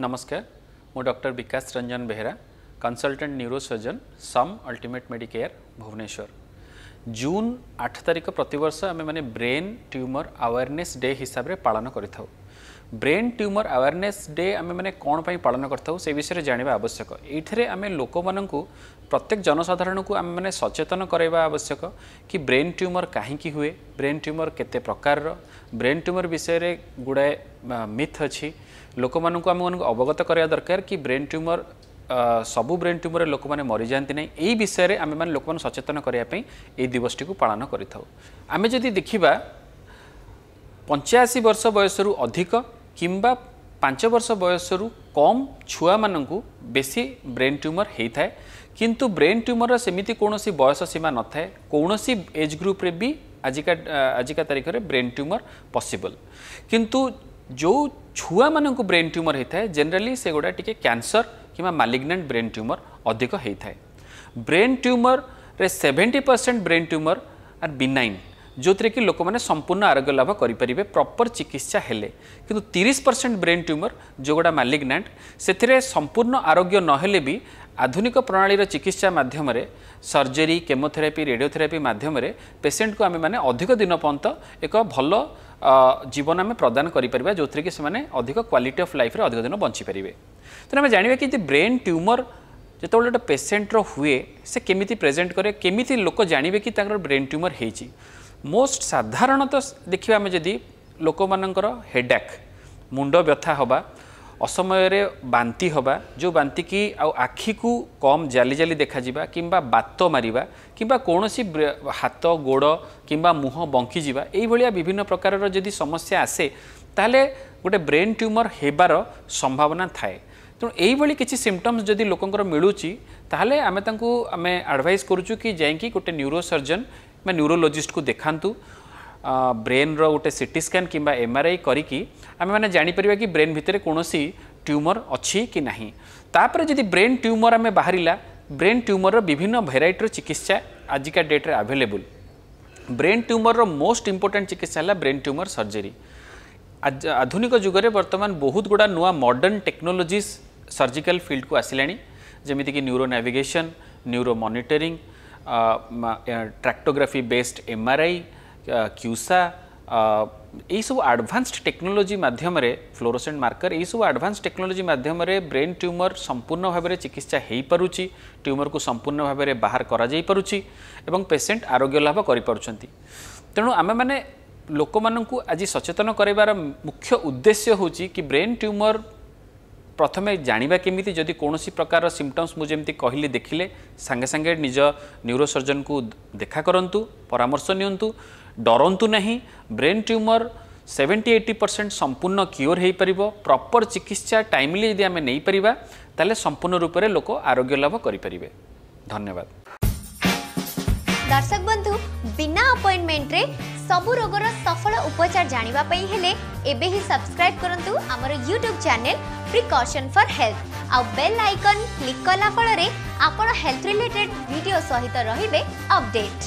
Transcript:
ନମସ୍କାର, ମୁଁ doctor Bikash Ranjan Behera, consultant neurosurgeon, SUM ultimate Medicare, Bhubaneswar. June 8 ତାରିଖ ପ୍ରତିବର୍ଷ ଆମେମାନେ ବ୍ରେନ୍ ଟ୍ୟୁମର୍ ଆୱାରନେସ୍ ଡେ ହିସାବରେ ପାଳନ କରିଥାଉ। ବ୍ରେନ୍ ଟ୍ୟୁମର୍ ଆୱାରନେସ୍ ଡେ ଆମେମାନେ କ'ଣ ପାଇଁ ପାଳନ କରିଥାଉ, ସେ ବିଷୟରେ ଜାଣିବା ଆବଶ୍ୟକ। ଏଇଥିରେ ଆମେ ଲୋକମାନଙ୍କୁ, ପ୍ରତ୍ୟେକ ଜନସାଧାରଣଙ୍କୁ ଆମେମାନେ ସଚେତନ କରାଇବା ଆବଶ୍ୟକ କି ବ୍ରେନ୍ ଟ୍ୟୁମର୍ କାହିଁକି ହୁଏ, ବ୍ରେନ୍ ଟ୍ୟୁମର୍ କେତେ ପ୍ରକାରର, ବ୍ରେନ୍ ଟ୍ୟୁମର୍ ବିଷୟରେ ଗୁଡ଼ାଏ ମିଥ୍ ଅଛି। ଲୋକମାନଙ୍କୁ ଆମମାନଙ୍କୁ ଅବଗତ କରିବା ଦରକାର କି ବ୍ରେନ୍ ଟ୍ୟୁମର୍, ସବୁ ବ୍ରେନ୍ ଟ୍ୟୁମର୍ରେ ଲୋକମାନେ ମରିଯାଆନ୍ତି ନାହିଁ। ଏଇ ବିଷୟରେ ଆମେମାନେ ଲୋକମାନଙ୍କୁ ସଚେତନ କରିବା ପାଇଁ ଏଇ ଦିବସଟିକୁ ପାଳନ କରିଥାଉ। ଆମେ ଯଦି ଦେଖିବା, 85 ବର୍ଷ ବୟସରୁ ଅଧିକ କିମ୍ବା 5 ବର୍ଷ ବୟସରୁ କମ୍ ଛୁଆମାନଙ୍କୁ ବେଶୀ ବ୍ରେନ୍ ଟ୍ୟୁମର୍ ହେଇଥାଏ। କିନ୍ତୁ ବ୍ରେନ୍ ଟ୍ୟୁମର୍ର ସେମିତି କୌଣସି ବୟସ ସୀମା ନଥାଏ। କୌଣସି ଏଜ୍ ଗ୍ରୁପ୍ରେ ବି ଆଜିକା ତାରିଖରେ ବ୍ରେନ୍ ଟ୍ୟୁମର୍ ପସିବଲ୍। କିନ୍ତୁ ଯେଉଁ ଛୁଆମାନଙ୍କୁ ବ୍ରେନ୍ ଟ୍ୟୁମର୍ ହେଇଥାଏ, ଜେନେରାଲି ସେଗୁଡ଼ା ଟିକେ କ୍ୟାନ୍ସର କିମ୍ବା ମାଲିଗ୍ନାଣ୍ଟ ବ୍ରେନ୍ ଟ୍ୟୁମର୍ ଅଧିକ ହେଇଥାଏ। ବ୍ରେନ୍ ଟ୍ୟୁମର୍ରେ 70% ବ୍ରେନ୍ ଟ୍ୟୁମର୍ ଆର୍ ବିନାଇନ୍, ଯେଉଁଥିରେ କି ଲୋକମାନେ ସମ୍ପୂର୍ଣ୍ଣ ଆରୋଗ୍ୟ ଲାଭ କରିପାରିବେ ପ୍ରପର୍ ଚିକିତ୍ସା ହେଲେ। କିନ୍ତୁ 30% ବ୍ରେନ୍ ଟ୍ୟୁମର୍ ଯେଉଁଗୁଡ଼ା ମାଲିଗ୍ନାଣ୍ଟ, ସେଥିରେ ସମ୍ପୂର୍ଣ୍ଣ ଆରୋଗ୍ୟ ନହେଲେ ବି ଆଧୁନିକ ପ୍ରଣାଳୀର ଚିକିତ୍ସା ମାଧ୍ୟମରେ, ସର୍ଜରୀ, କେମୋଥେରାପି, ରେଡ଼ିଓଥେରାପି ମାଧ୍ୟମରେ ପେସେଣ୍ଟକୁ ଆମେମାନେ ଅଧିକ ଦିନ ପର୍ଯ୍ୟନ୍ତ ଏକ ଭଲ ଜୀବନ ଆମେ ପ୍ରଦାନ କରିପାରିବା, ଯେଉଁଥିରେ କି ସେମାନେ ଅଧିକ କ୍ୱାଲିଟି ଅଫ୍ ଲାଇଫ୍ରେ ଅଧିକ ଦିନ ବଞ୍ଚିପାରିବେ। ତେଣୁ ଆମେ ଜାଣିବା କି ଯେ ବ୍ରେନ୍ ଟ୍ୟୁମର୍ ଯେତେବେଳେ ଗୋଟେ ପେସେଣ୍ଟର ହୁଏ, ସେ କେମିତି ପ୍ରେଜେଣ୍ଟ କରେ, କେମିତି ଲୋକ ଜାଣିବେ କି ତାଙ୍କର ବ୍ରେନ୍ ଟ୍ୟୁମର୍ ହେଇଛି। ମୋଷ୍ଟ ସାଧାରଣତଃ ଦେଖିବା ଆମେ ଯଦି, ଲୋକମାନଙ୍କର ହେଡାକ୍, ମୁଣ୍ଡ ବ୍ୟଥା ହେବା, ଅସମୟରେ ବାନ୍ତି ହେବା, ଯେଉଁ ବାନ୍ତିକି ଆଉ ଆଖିକୁ କମ୍ ଜାଲି ଜାଲି ଦେଖାଯିବା, କିମ୍ବା ବାତ ମାରିବା, କିମ୍ବା କୌଣସି ହାତ ଗୋଡ଼ କିମ୍ବା ମୁହଁ ବଙ୍କିଯିବା, ଏଇଭଳିଆ ବିଭିନ୍ନ ପ୍ରକାରର ଯଦି ସମସ୍ୟା ଆସେ, ତାହେଲେ ଗୋଟେ ବ୍ରେନ୍ ଟ୍ୟୁମର୍ ହେବାର ସମ୍ଭାବନା ଥାଏ। ତେଣୁ ଏଇଭଳି କିଛି ସିମ୍ପଟମ୍ସ ଯଦି ଲୋକଙ୍କର ମିଳୁଛି, ତାହେଲେ ଆମେ ତାଙ୍କୁ ଆମେ ଆଡ଼ଭାଇସ୍ କରୁଛୁ କି ଯାଇକି ଗୋଟେ ନ୍ୟୁରୋ ସର୍ଜନ ବା ନ୍ୟୁରୋଲୋଜିଷ୍ଟକୁ ଦେଖାନ୍ତୁ। ବ୍ରେନ୍ର ଗୋଟେ ସିଟି ସ୍କାନ୍ କିମ୍ବା ଏମ୍ଆର୍ଆଇ କରିକି ଆମେମାନେ ଜାଣିପାରିବା କି ବ୍ରେନ୍ ଭିତରେ କୌଣସି ଟ୍ୟୁମର୍ ଅଛି କି ନାହିଁ। ତାପରେ ଯଦି ବ୍ରେନ୍ ଟ୍ୟୁମର୍ ଆମେ ବାହାରିଲା, ବ୍ରେନ୍ ଟ୍ୟୁମର୍ର ବିଭିନ୍ନ ଭେରାଇଟିର ଚିକିତ୍ସା ଆଜିକା ଡେଟ୍ରେ ଆଭେଲେବୁଲ୍। ବ୍ରେନ୍ ଟ୍ୟୁମର୍ର ମୋଷ୍ଟ ଇମ୍ପୋର୍ଟାଣ୍ଟ ଚିକିତ୍ସା ହେଲା ବ୍ରେନ୍ ଟ୍ୟୁମର୍ ସର୍ଜରୀ। ଆଧୁନିକ ଯୁଗରେ ବର୍ତ୍ତମାନ ବହୁତ ଗୁଡ଼ା ନୂଆ ମଡ଼ର୍ଣ୍ଣ ଟେକ୍ନୋଲୋଜିସ୍ ସର୍ଜିକାଲ ଫିଲ୍ଡକୁ ଆସିଲାଣି, ଯେମିତିକି neuro navigation, neuro monitoring, tractography based MRI, CUSA, ଏଇସବୁ ଆଡ଼ଭାନ୍ସଡ ଟେକ୍ନୋଲୋଜି ମାଧ୍ୟମରେ, ଫ୍ଲୋରୋସେଣ୍ଟ ମାର୍କର, ଏଇସବୁ ଆଡ଼ଭାନ୍ସ ଟେକ୍ନୋଲୋଜି ମାଧ୍ୟମରେ ବ୍ରେନ୍ ଟ୍ୟୁମର୍ ସମ୍ପୂର୍ଣ୍ଣ ଭାବରେ ଚିକିତ୍ସା ହୋଇପାରୁଛି, ଟ୍ୟୁମର୍କୁ ସମ୍ପୂର୍ଣ୍ଣ ଭାବରେ ବାହାର କରାଯାଇପାରୁଛି ଏବଂ ପେସେଣ୍ଟ ଆରୋଗ୍ୟ ଲାଭ କରିପାରୁଛନ୍ତି। ତେଣୁ ଆମେମାନେ ଲୋକମାନଙ୍କୁ ଆଜି ସଚେତନ କରାଇବାର ମୁଖ୍ୟ ଉଦ୍ଦେଶ୍ୟ ହେଉଛି କି ବ୍ରେନ୍ ଟ୍ୟୁମର୍ ପ୍ରଥମେ ଜାଣିବା କେମିତି। ଯଦି କୌଣସି ପ୍ରକାର ସିମ୍ପଟମ୍ସ ମୁଁ ଯେମିତି କହିଲି ଦେଖିଲେ, ସାଙ୍ଗେ ସାଙ୍ଗେ ନିଜ ନ୍ୟୁରୋସର୍ଜନକୁ ଦେଖା କରନ୍ତୁ, ପରାମର୍ଶ ନିଅନ୍ତୁ, ଡରନ୍ତୁ ନାହିଁ। ବ୍ରେନ୍ ଟ୍ୟୁମର୍ 70-80% ସମ୍ପୂର୍ଣ୍ଣ କ୍ୟୁର୍ ହୋଇପାରିବ। ପ୍ରପର୍ ଚିକିତ୍ସା ଟାଇମଲି ଯଦି ଆମେ ନେଇପାରିବା, ତାହେଲେ ସମ୍ପୂର୍ଣ୍ଣ ରୂପରେ ଲୋକ ଆରୋଗ୍ୟ ଲାଭ କରିପାରିବେ। ଧନ୍ୟବାଦ। ଦର୍ଶକ ବନ୍ଧୁ, ବିନା ଆପଏଣ୍ଟମେଣ୍ଟରେ ସବୁ ରୋଗର ସଫଳ ଉପଚାର ଜାଣିବା ପାଇଁ ହେଲେ ଏବେ ହିଁ ସବସ୍କ୍ରାଇବ୍ କରନ୍ତୁ ଆମର YouTube channel precaution for health, ଆଉ ବେଲ୍ ଆଇକନ୍ କ୍ଲିକ୍ କଲା ଫଳରେ ଆପଣ ହେଲ୍ଥ ରିଲେଟେଡ୍ ଭିଡ଼ିଓ ସହିତ ରହିବେ ଅପଡେଟ୍।